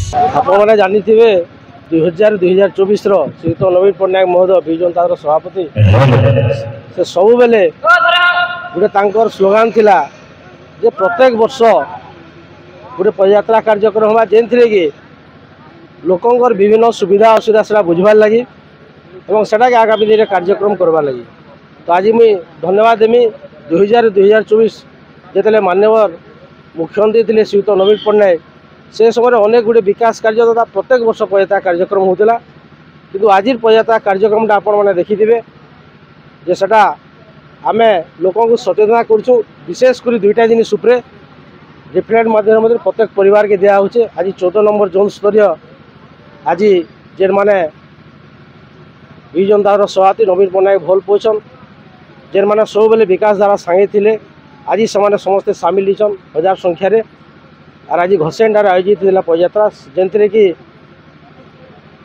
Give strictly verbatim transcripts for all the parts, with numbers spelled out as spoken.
ଆପଣମାନେ ଜାଣିଥିବେ, ଦୁଇ ହଜାର, ଦୁଇ ହଜାର ଚବିଶର ଶ୍ରୀଯୁକ୍ତ ନବୀନ ପଟ୍ଟନାୟକ ମହୋଦୟ, ବିଜୁ ଜନତା ଦଳର ସଭାପତି, ସେ ସବୁବେଳେ ଗୋଟେ ତାଙ୍କର ସ୍ଲୋଗାନ ଥିଲା ଯେ ପ୍ରତ୍ୟେକ ବର୍ଷ ଗୋଟେ ପଦଯାତ୍ରା କାର୍ଯ୍ୟକ୍ରମ ହେବା, ଯେଉଁଥିରେ କି ଲୋକଙ୍କର ବିଭିନ୍ନ ସୁବିଧା ଅସୁବିଧା ସେଟା ବୁଝିବାର ଲାଗି ଏବଂ ସେଟାକେ ଆଗାମୀ ଦିନରେ କାର୍ଯ୍ୟକ୍ରମ କରବାର ଲାଗି। ତ ଆଜି ମୁଇଁ ଧନ୍ୟବାଦ ଦେମି, ଦୁଇ ହଜାର, ଦୁଇ ହଜାର ଚବିଶ ଯେତେବେଳେ ମାନ୍ୟବର ମୁଖ୍ୟମନ୍ତ୍ରୀ ଥିଲେ ଶ୍ରୀଯୁକ୍ତ ନବୀନ ପଟ୍ଟନାୟକ, ସେ ସମୟରେ ଅନେକ ଗୁଡ଼ିଏ ବିକାଶ କାର୍ଯ୍ୟ ତଥା ପ୍ରତ୍ୟେକ ବର୍ଷ ପଦଯାତ୍ରା କାର୍ଯ୍ୟକ୍ରମ ହେଉଥିଲା। କିନ୍ତୁ ଆଜିର ପଦଯାତ୍ରା କାର୍ଯ୍ୟକ୍ରମଟା ଆପଣମାନେ ଦେଖିଥିବେ ଯେ ସେଟା ଆମେ ଲୋକଙ୍କୁ ସଚେତନା କରୁଛୁ, ବିଶେଷ କରି ଦୁଇଟା ଜିନିଷ ଉପରେ ଲିଫଲେଟ୍ ମାଧ୍ୟମରେ ପ୍ରତ୍ୟେକ ପରିବାରକେ ଦିଆହେଉଛେ। ଆଜି ଚଉଦ ନମ୍ବର ଜୋନ୍ ସ୍ତରୀୟ ଆଜି ଯେନ୍ମାନେ ବିଜୁ ଜନତା ଦଳର ସଭାପତି ନବୀନ ପଟ୍ଟନାୟକ ଭଲ ପାଉଛନ୍, ଯେନ୍ମାନେ ସବୁବେଳେ ବିକାଶ ଧାରା ସାଙ୍ଗେ ଥିଲେ, ଆଜି ସେମାନେ ସମସ୍ତେ ସାମିଲ ହେଇଛନ୍ ହଜାର ସଂଖ୍ୟାରେ। ଆର୍ ଆଜି ଘଷିଆଣିରେ ଆୟୋଜିତ ହେଇଥିଲା ପଦଯାତ୍ରା, ଯେଉଁଥିରେ କି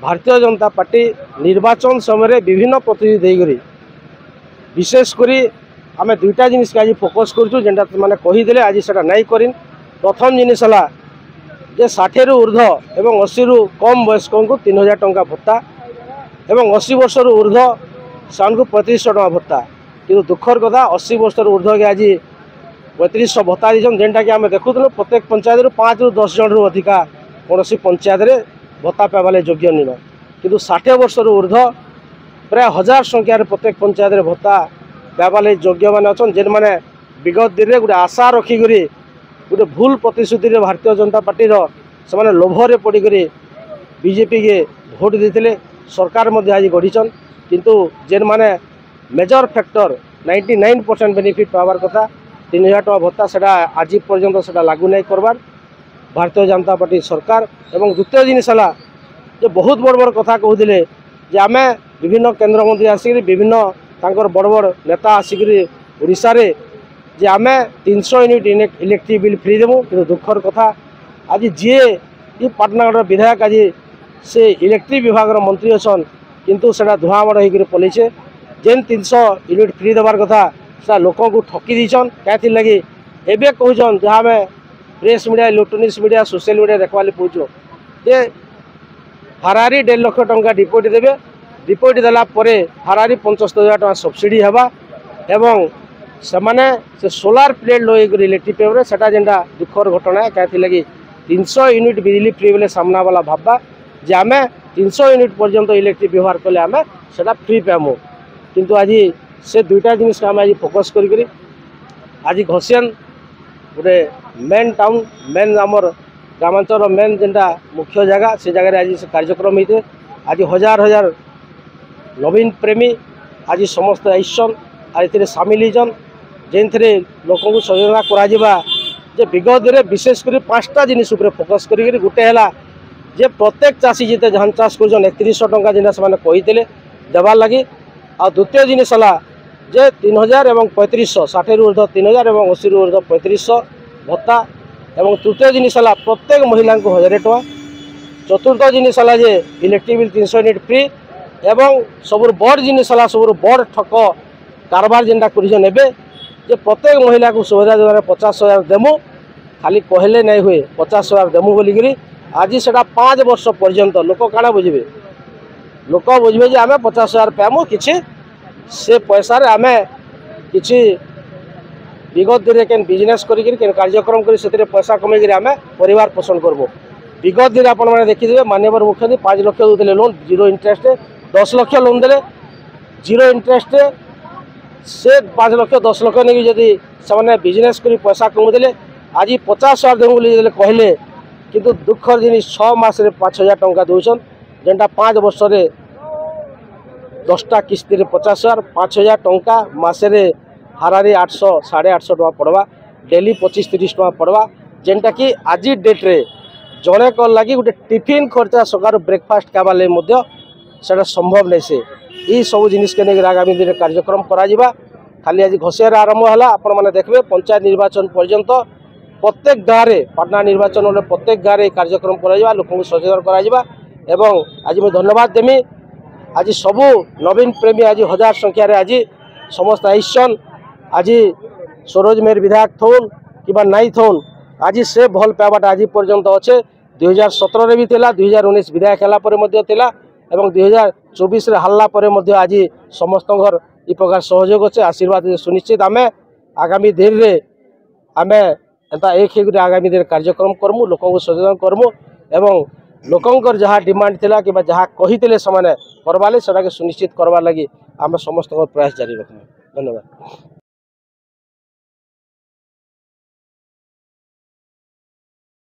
ଭାରତୀୟ ଜନତା ପାର୍ଟି ନିର୍ବାଚନ ସମୟରେ ବିଭିନ୍ନ ପ୍ରତିଶ୍ରୁତି ଦେଇକରି, ବିଶେଷ କରି ଆମେ ଦୁଇଟା ଜିନିଷକେ ଆଜି ଫୋକସ୍ କରୁଛୁ, ଯେନ୍ଟା ସେମାନେ କହିଦେଲେ, ଆଜି ସେଟା ନାଇଁ କରିନ୍। ପ୍ରଥମ ଜିନିଷ ହେଲା ଯେ ଷାଠିଏରୁ ଊର୍ଦ୍ଧ୍ୱ ଏବଂ ଅଶୀରୁ କମ୍ ବୟସ୍କଙ୍କୁ ତିନି ହଜାର ଟଙ୍କା ଭତ୍ତା ଏବଂ ଅଶୀ ବର୍ଷରୁ ଊର୍ଦ୍ଧ୍ୱ ସେମାନଙ୍କୁ ପଇଁତିରିଶଶହ ଟଙ୍କା ଭତ୍ତା। କିନ୍ତୁ ଦୁଃଖର କଥା, ଅଶୀ ବର୍ଷରୁ ଊର୍ଦ୍ଧ୍ୱକେ ଆଜି ପଇଁତିରିଶଶହ ଭତ୍ତା ଦେଇଛନ୍, ଯେନ୍ଟାକି ଆମେ ଦେଖୁଥିଲୁ ପ୍ରତ୍ୟେକ ପଞ୍ଚାୟତରୁ ପାଞ୍ଚରୁ ଦଶ ଜଣରୁ ଅଧିକା କୌଣସି ପଞ୍ଚାୟତରେ ଭତ୍ତା ପାଇବାର୍ ଲାଗି ଯୋଗ୍ୟ ନିନ। କିନ୍ତୁ ଷାଠିଏ ବର୍ଷରୁ ଊର୍ଦ୍ଧ୍ୱ ପ୍ରାୟ ହଜାର ସଂଖ୍ୟାରେ ପ୍ରତ୍ୟେକ ପଞ୍ଚାୟତରେ ଭତ୍ତା ପାଇବାର୍ ଲାଗି ଯୋଗ୍ୟମାନେ ଅଛନ୍, ଯେନ୍ମାନେ ବିଗତ ଦିନରେ ଗୋଟେ ଆଶା ରଖିକରି ଗୋଟେ ଭୁଲ ପ୍ରତିଶ୍ରୁତିରେ ଭାରତୀୟ ଜନତା ପାର୍ଟିର ସେମାନେ ଲୋଭରେ ପଡ଼ିକରି ବିଜେପିକେ ଭୋଟ ଦେଇଥିଲେ, ସରକାର ମଧ୍ୟ ଆଜି ଗଢ଼ିଛନ୍। କିନ୍ତୁ ଯେନ୍ମାନେ major factor ninety nine percent benefit ପାଇବାର୍ କଥା, ତିନି ହଜାର ଟଙ୍କା ଭତ୍ତା, ସେଟା ଆଜି ପର୍ଯ୍ୟନ୍ତ ସେଟା ଲାଗୁ ନାଇଁ କରବାର୍ ଭାରତୀୟ ଜନତା ପାର୍ଟି ସରକାର। ଏବଂ ଦ୍ୱିତୀୟ ଜିନିଷ ହେଲା ଯେ ବହୁତ ବଡ଼ ବଡ଼ କଥା କହୁଥିଲେ ଯେ ଆମେ, ବିଭିନ୍ନ କେନ୍ଦ୍ରମନ୍ତ୍ରୀ ଆସିକରି, ବିଭିନ୍ନ ତାଙ୍କର ବଡ଼ ବଡ଼ ନେତା ଆସିକରି ଓଡ଼ିଶାରେ ଯେ ଆମେ ତିନିଶହ ୟୁନିଟ୍ ଇଲେ-, ଇଲେକ୍ଟ୍ରିକ୍ ବିଲ୍ ଫ୍ରି ଦେମୁ। କିନ୍ତୁ ଦୁଃଖର କଥା, ଆଜି ଯିଏ ଇ ପାଟନାଗଡ଼ର ବିଧାୟକ, ଆଜି ସେ ଇଲେକ୍ଟ୍ରିକ୍ ବିଭାଗର ମନ୍ତ୍ରୀ ଅଛନ୍, କିନ୍ତୁ ସେଟା ଧୂଆଁ ମଡ଼ ହେଇକରି ପଲେଇଛେ। ଯେନ୍ ତିନିଶହ ୟୁନିଟ୍ ଫ୍ରି ଦେବାର କଥା, ସେଟା ଲୋକଙ୍କୁ ଠକି ଦେଇଛନ୍। କାଏଁଥିର୍ ଲାଗି ଏବେ କହୁଛନ୍, ଯାହା ଆମେ press media, electronics media, social media ଦେଖବାର୍ ଲାଗି ପାଉଛୁ ଯେ ଫେରାରୀ ଦେଢ଼ ଲକ୍ଷ ଟଙ୍କା ଡିପୋଜିଟ୍ ଦେବେ, ଡିପୋଜିଟ୍ ଦେଲା ପରେ ଫେରାରୀ ପଞ୍ଚସ୍ତରୀ ହଜାର ଟଙ୍କା ସବସିଡି ହେବା ଏବଂ ସେମାନେ ସେ ସୋଲାର ପ୍ଲେଟ୍ ଲଗେଇକରି ଇଲେକ୍ଟ୍ରିକ୍ ପେମେଣ୍ଟ, ସେଟା ଯେନ୍ଟା ଦୁଃଖର ଘଟଣା। କାଏଁଥିର୍ ଲାଗି ତିନିଶହ ୟୁନିଟ୍ ବିଜଲି ଫ୍ରି ବେଲେ ସାମ୍ନା ବାଲା ଭାବବା ଯେ ଆମେ ତିନିଶହ ୟୁନିଟ୍ ପର୍ଯ୍ୟନ୍ତ ଇଲେକ୍ଟ୍ରିକ୍ ବ୍ୟବହାର କଲେ ଆମେ ସେଟା ଫ୍ରି ପାଇମୁ। କିନ୍ତୁ ଆଜି ସେ ଦୁଇଟା ଜିନିଷକେ ଆମେ ଆଜି ଫୋକସ୍ କରିକରି ଆଜି ଘଷିଆନ୍ ଗୋଟେ ମେନ୍ ଟାଉନ୍, ମେନ୍ ଆମର ଗ୍ରାମାଞ୍ଚଳର ମେନ୍ ଯେନ୍ଟା ମୁଖ୍ୟ ଜାଗା, ସେ ଜାଗାରେ ଆଜି ସେ କାର୍ଯ୍ୟକ୍ରମ ହେଇଛେ। ଆଜି ହଜାର ହଜାର ନବୀନ ପ୍ରେମୀ ଆଜି ସମସ୍ତେ ଆଇସନ୍, ଆର୍ ଏଥିରେ ସାମିଲ ହେଇଛନ୍, ଯେଉଁଥିରେ ଲୋକଙ୍କୁ ସଚେତନା କରାଯିବା ଯେ ବିଗତ ଦିନରେ ବିଶେଷ କରି ପାଞ୍ଚଟା ଜିନିଷ ଉପରେ ଫୋକସ୍ କରିକିରି, ଗୋଟେ ହେଲା ଯେ ପ୍ରତ୍ୟେକ ଚାଷୀ ଯେତେ ଧାନ ଚାଷ କରୁଛନ୍, ଏକତିରିଶଶହ ଟଙ୍କା ଯେନ୍ଟା ସେମାନେ କହିଥିଲେ ଦେବାର୍ ଲାଗି। ଆଉ ଦ୍ୱିତୀୟ ଜିନିଷ ହେଲା ଯେ ତିନି ହଜାର ଏବଂ ପଇଁତିରିଶଶହ, ଷାଠିଏରୁ ଊର୍ଦ୍ଧ୍ୱ ତିନି ହଜାର ଏବଂ ଅଶୀରୁ ଊର୍ଦ୍ଧ୍ୱ ପଇଁତିରିଶଶହ ଭତ୍ତା। ଏବଂ ତୃତୀୟ ଜିନିଷ ହେଲା ପ୍ରତ୍ୟେକ ମହିଳାଙ୍କୁ ହଜାରେ ଟଙ୍କା। ଚତୁର୍ଥ ଜିନିଷ ହେଲା ଯେ ଇଲେକ୍ଟ୍ରିକ୍ ବିଲ୍ ତିନିଶହ ୟୁନିଟ୍ ଫ୍ରି। ଏବଂ ସବୁରୁ ବଡ଼ ଜିନିଷ ହେଲା, ସବୁରୁ ବଡ଼ ଠକ କାରବାର ଯେନ୍ଟା କରିଛନ୍ ଏବେ, ଯେ ପ୍ରତ୍ୟେକ ମହିଳାକୁ ସୁଭଦ୍ରା ଯୋଜନାରେ ପଚାଶ ହଜାର ଦେମୁ, ଖାଲି କହିଲେ ନାଇଁ ହୁଏ, ପଚାଶ ହଜାର ଦେମୁ ବୋଲିକିରି। ଆଜି ସେଟା ପାଞ୍ଚ ବର୍ଷ ପର୍ଯ୍ୟନ୍ତ ଲୋକ କାଣା ବୁଝିବେ? ଲୋକ ବୁଝିବେ ଯେ ଆମେ ପଚାଶ ହଜାର ପାଇମୁ, କିଛି ସେ ପଇସାରେ ଆମେ କିଛି ବିଗତ ଦିନରେ କେନ୍ ବିଜନେସ୍ କରିକିରି, କେନ୍ କାର୍ଯ୍ୟକ୍ରମ କରି ସେଥିରେ ପଇସା କମେଇକିରି ଆମେ ପରିବାର ପୋଷଣ କରବୁ। ବିଗତ ଦିନରେ ଆପଣମାନେ ଦେଖିଥିବେ, ମାନ୍ୟବର ମୁଖ୍ୟମନ୍ତ୍ରୀ ପାଞ୍ଚ ଲକ୍ଷ ଦେଉଥିଲେ ଲୋନ୍, ଜିରୋ ଇଣ୍ଟରେଷ୍ଟରେ ଦଶ ଲକ୍ଷ ଲୋନ୍ ଦେଲେ, ଜିରୋ ଇଣ୍ଟରେଷ୍ଟରେ। ସେ ପାଞ୍ଚ ଲକ୍ଷ, ଦଶ ଲକ୍ଷ ନେଇକି ଯଦି ସେମାନେ ବିଜନେସ୍ କରି ପଇସା କମେଇଦେଲେ, ଆଜି ପଚାଶ ହଜାର ଦେମୁ ବୋଲି ଯେତେବେଳେ କହିଲେ, କିନ୍ତୁ ଦୁଃଖର ଜିନିଷ, ଛଅ ମାସରେ ପାଞ୍ଚ ହଜାର ଟଙ୍କା ଦେଉଛନ୍, ଯେନ୍ଟା ପାଞ୍ଚ ବର୍ଷରେ ଦଶଟା କିସ୍ତିରେ ପଚାଶ ହଜାର, ପାଞ୍ଚ ହଜାର ଟଙ୍କା ମାସରେ ହାରାହାରି ଆଠଶହ, ସାଢ଼େ ଆଠଶହ ଟଙ୍କା ପଡ଼ବା, ଡେଲି ପଚିଶ ତିରିଶ ଟଙ୍କା ପଡ଼ବା, ଯେନ୍ଟାକି ଆଜି ଡେଟ୍ରେ ଜଣେକର ଲାଗି ଗୋଟେ ଟିଫିନ୍ ଖର୍ଚ୍ଚା, ସକାଳୁ ବ୍ରେକଫାଷ୍ଟ ଖାଇବାର୍ ଲାଗି ମଧ୍ୟ ସେଟା ସମ୍ଭବ ନାଇଁ। ସେ ଇ ସବୁ ଜିନିଷକେ ନେଇକରି ଆଗାମୀ ଦିନରେ କାର୍ଯ୍ୟକ୍ରମ କରାଯିବା। ଖାଲି ଆଜି ଘଷିଆରେ ଆରମ୍ଭ ହେଲା, ଆପଣମାନେ ଦେଖିବେ ପଞ୍ଚାୟତ ନିର୍ବାଚନ ପର୍ଯ୍ୟନ୍ତ ପ୍ରତ୍ୟେକ ଗାଁରେ, ପାଟନା ନିର୍ବାଚନରେ ପ୍ରତ୍ୟେକ ଗାଁରେ ଇ କାର୍ଯ୍ୟକ୍ରମ କରାଯିବା, ଲୋକଙ୍କୁ ସଚେତନ କରାଯିବା। ଏବଂ ଆଜି ମୁଁ ଧନ୍ୟବାଦ ଦେମି, ଆଜି ସବୁ ନବୀନ ପ୍ରେମୀ ଆଜି ହଜାର ସଂଖ୍ୟାରେ ଆଜି ସମସ୍ତେ ଆଇସନ୍। ଆଜି ସରୋଜ ମେହେର ବିଧାୟକ ଥଉନ୍ କିମ୍ବା ନାଇଁ ଥଉନ୍, ଆଜି ସେ ଭଲ ପାଇବାଟା ଆଜି ପର୍ଯ୍ୟନ୍ତ ଅଛେ। ଦୁଇ ହଜାର ସତରରେ ବି ଥିଲା, ଦୁଇ ହଜାର ଉଣେଇଶ ବିଧାୟକ ହେଲା ପରେ ମଧ୍ୟ ଥିଲା ଏବଂ ଦୁଇ ହଜାର ଚବିଶରେ ହାରିଲା ପରେ ମଧ୍ୟ ଆଜି ସମସ୍ତଙ୍କର ଇ ପ୍ରକାର ସହଯୋଗ ଅଛେ, ଆଶୀର୍ବାଦ ଅଛେ। ସୁନିଶ୍ଚିତ ଆମେ ଆଗାମୀ ଦିନରେ ଆମେ ଏନ୍ତା ଏକ ହେଇକରି ଆଗାମୀ ଦିନରେ କାର୍ଯ୍ୟକ୍ରମ କରମୁ, ଲୋକଙ୍କୁ ସଚେତନ କରମୁ ଏବଂ ଲୋକଙ୍କର ଯାହା ଡିମାଣ୍ଡ ଥିଲା କିମ୍ବା ଯାହା କହିଥିଲେ ସେମାନେ କରବାଲେ ସେଟାକେ ସୁନିଶ୍ଚିତ କରବାର ଲାଗି ଆମେ ସମସ୍ତଙ୍କର ପ୍ରୟାସ ଜାରି ରଖମୁ। ଧନ୍ୟବାଦ।